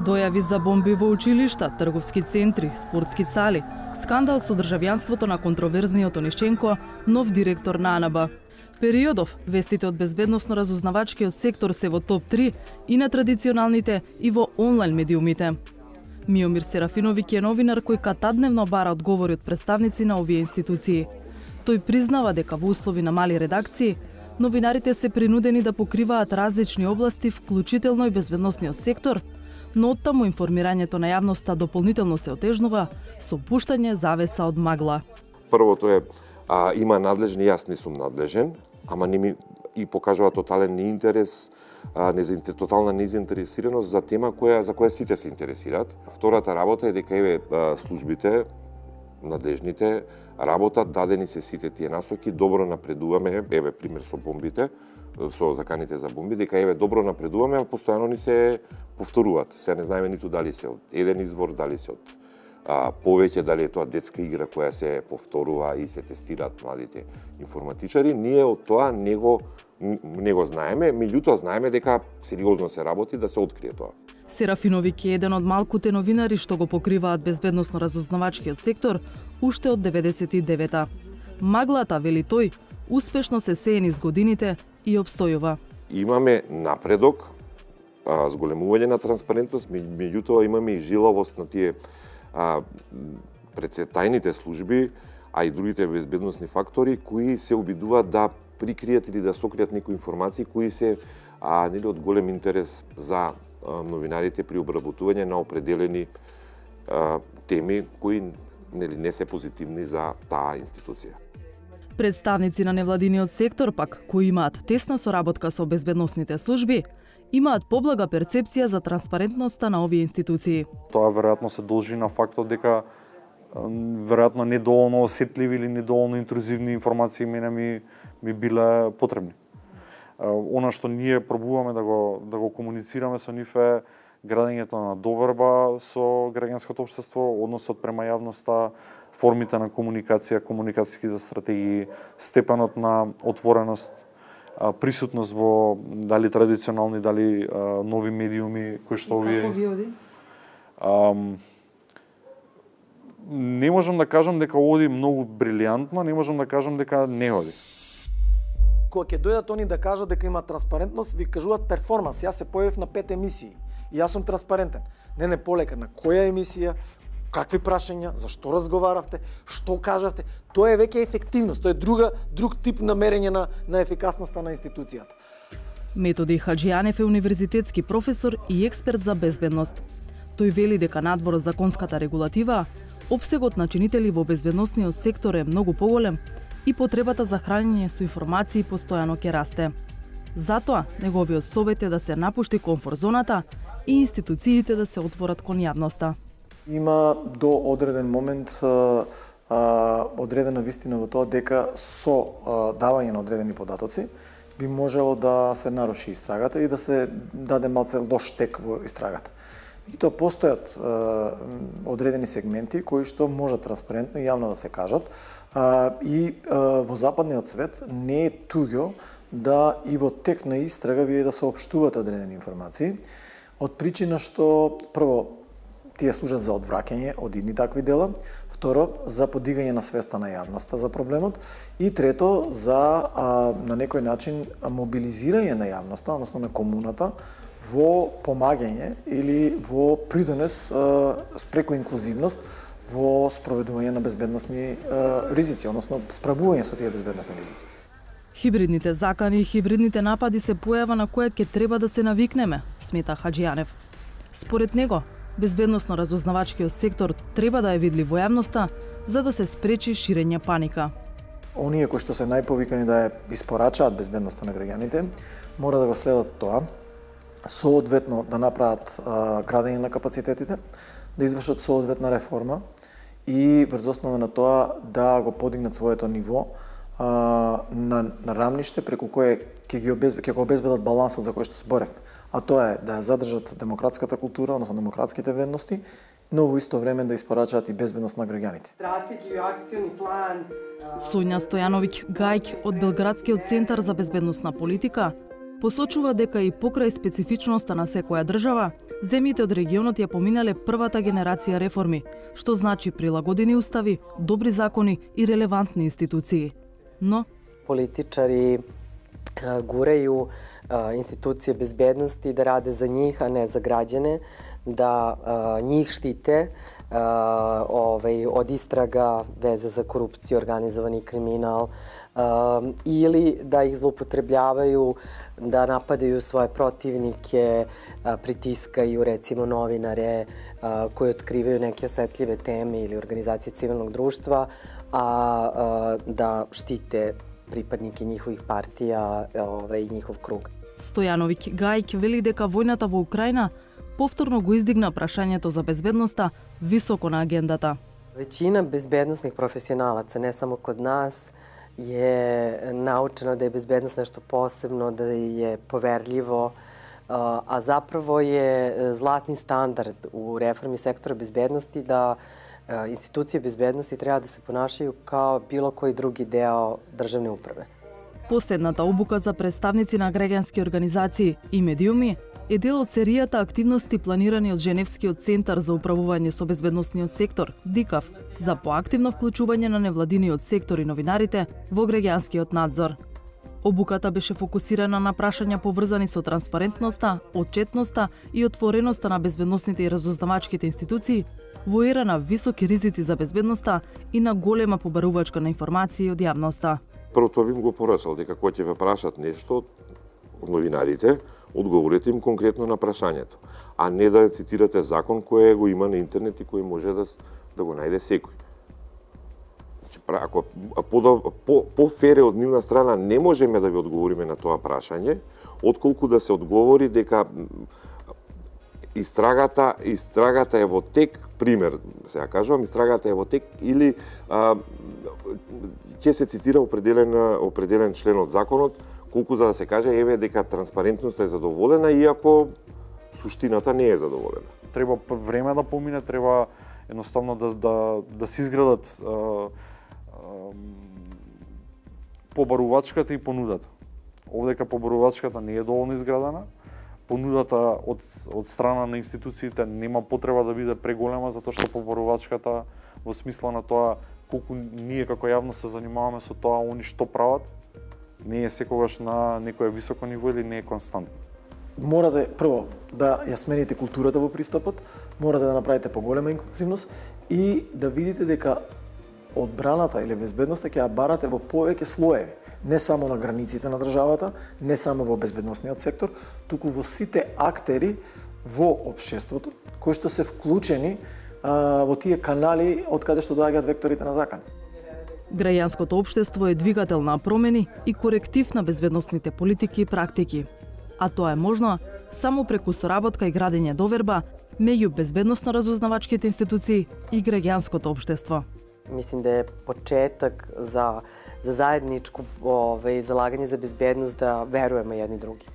Дојави за бомби во училишта, трговски центри, спортски сали, скандал со државјанството на контроверзниот Онишченко, нов директор на АНБ. Периодов, вестите од безбедносно-разузнавачкиот сектор се во топ 3 и на традиционалните и во онлайн медиумите. Миомир Серафиновиќ е новинар кој катадневно бара одговори од представници на овие институции. Тој признава дека во услови на мали редакции, новинарите се принудени да покриваат различни области, вклучително и безбедносниот сектор, но оттаму информирањето на јавноста дополнително се отежнува со пуштање завеса од магла. Првото е, има надлежни, јас не сум надлежен, ама не ми и покажува тотален неинтерес, тотална незаинтересираност за тема за која сите се интересираат. Втората работа е дека еве службите, надлежните, работат, дадени се сите тие насоки, добро напредуваме, еве пример со бомбите, со заканите за бомби, дека еве добро напредуваме, а постојано ни се повторуваат. Се не знаеме ниту дали се од еден извор, дали се од повеќе, дали е тоа детска игра која се повторува и се тестираат младите информатичари. Ние од тоа не го знаеме, меѓутоа знаеме дека сериозно се работи да се открие тоа. Серафиновиќ е еден од малкуте новинари што го покриваат безбедносно-разузнавачкиот сектор уште од 99-та. Маглата, вели тој, успешно се сее низ годините и обстојува. Имаме напредок, зголемување на транспарентност, меѓутоа имаме и жилавост на тие тајните служби, а и другите безбедносни фактори кои се обидуваат да прикријат или да сокријат некои информации кои се нели од голем интерес за новинарите при обработување на определени теми кои нели не се позитивни за таа институција. Представници на невладиниот сектор пак, кои имаат тесна соработка со безбедносните служби, имаат поблага перцепција за транспарентноста на овие институции. Тоа веројатно се должи на фактот дека веројатно недоволно осетливи или недоволно интрузивни информации мене ми биле потребни. Она што ние пробуваме да го комуницираме со нив е градењето на доверба со граѓанското општество, односот према јавноста, формите на комуникација, комуникацијските стратегии, степенот на отвореност, присутност во дали традиционални, дали нови медиуми кои што овие. Не можам да кажам дека оди многу брилијантно, не можам да кажам дека не оди. Кога ќе дојдат они да кажат дека има транспарентност, ви кажуваат перформанс. Јас се појавив на 5 емисии и јас сум транспарентен. Не полека на која емисија, какви прашања, зашто разговаравте, што кажавте. Тоа е веќе ефективност, тоа е друг тип на мерење на ефикасноста на институцијата. Методи Хаџијанев е универзитетски професор и експерт за безбедност. Тој вели дека надвор од законската регулатива, опсегот на чинители во безбедносниот сектор е многу поголем и потребата за хранење со информации постојано ќе расте. Затоа, неговиот совет е да се напушти комфорт зоната и институциите да се отворат кон јавноста. Има до одреден момент одредена вистина во тоа дека со давање на одредени податоци би можело да се наруши истрагата и да се даде малце лош тек во истрагата. И тоа постојат одредени сегменти кои што можат транспарентно и јавно да се кажат и во западниот свет не е туѓо да и во тек на истрага вие да соопштувате одредени информации од причина што прво тие служат за одвраќање од идни такви дела, второ за подигање на свеста на јавноста за проблемот и трето за на некој начин мобилизирање на јавноста, односно на комуната во помагање или во придонес преку инклузивност во спроведување на безбедносни ризици, односно справување со тие безбедносни ризици. Хибридните закани и хибридните напади се појава на која ќе треба да се навикнеме, смета Хаџијанев. Според него, безбедносно-разузнавачкиот сектор треба да е видлив во јавноста за да се спречи ширење паника. Оние кои што се најповикани да ја испорачаат безбедноста на граѓаните, мора да го следат тоа, соодветно да направат градење на капацитетите, да извршат соодветна реформа и врз основа на тоа да го подигнат своето ниво на рамниште преку кое ќе го обезбедат балансот за кој што зборевме. А тоа е да ја задржат демократската култура, односно демократските вредности, но во исто време да испорачаат и безбедност на граѓаните. Стратегија, акциони план. Сонја Стојановиќ Гајќ од Белградскиот центар за безбедносна политика посочува дека и покрај специфичноста на секоја држава, земјите од регионот ја поминале првата генерација реформи, што значи прилагодени устави, добри закони и релевантни институции. Но политичари гуреju institucije bezbednosti da rade za njih, a ne za građane, da njih štite od istraga veze za korupciju, organizovani kriminal, ili da ih zloupotrebljavaju, da napadaju svoje protivnike, pritiskaju recimo novinare koji otkrivaju neke osetljive teme ili organizacije civilnog društva, a da štite pripadnike njihovih partija i njihov krug. Стојановиќ Гајќ вели дека војната во Украина повторно го издигна прашањето за безбедноста високо на агендата. Većina bezbednosnih profesionalaca, ne samo kod nas, je naučeno da je bezbednost nešto posebno, da je poverljivo, a zapravo je zlatni standard u reformi sektora bezbednosti da institucije bezbednosti treba da se ponašaju kao bilo koji drugi deo državne uprave. Последната обука за представници на граѓански организации и медиуми е дел од серијата активности планирани од Женевскиот центар за управување со безбедносниот сектор, ДИКАВ, за поактивно вклучување на невладиниот сектор и новинарите во граѓанскиот надзор. Обуката беше фокусирана на прашања поврзани со транспарентноста, отчетноста и отвореноста на безбедносните и разузнавачките институции во ера на високи ризици за безбедноста и на голема побарувачка на информации од јавноста. Прво тоа бим го порачал, дека кога ќе ве прашат нешто од новинарите, одговорете им конкретно на прашањето, а не да цитирате закон кој го има на интернет и кој може да го најде секој. Значи, ако по-фере од нивна страна не можеме да ви одговориме на тоа прашање, отколку да се одговори дека истрагата е во тек, пример, сега кажувам, истрагата е во тек, или ќе се цитира определен член од законот, колку за да се каже еве дека транспарентноста е задоволена, иако суштината не е задоволена. Треба време да помине, треба едноставно да се изградат побарувачката и понудата. Овдека побарувачката не е доволно изградена, понудата од страна на институциите нема потреба да биде преголема, затоа што побарувачката во смисла на тоа колку ние како јавност се занимаваме со тоа, они што прават, не е секогаш на некое високо ниво или не е константно. Морате прво да ја смените културата во пристапот, морате да направите поголема инклузивност и да видите дека одбраната или безбедноста ќе ја барате во повеќе слоеви, не само на границите на државата, не само во безбедносниот сектор, туку во сите актери во општеството кои што се вклучени во тие канали од каде што доаѓаат векторите на закан. Граѓанското општество е двигател на промени и коректив на безбедносните политики и практики. А тоа е можно само преку соработка и градење доверба меѓу безбедносно-разузнавачките институции и граѓанското општество. Mislim da je početak za zajedničko zalaganje za bezbednost da verujemo jedni drugi.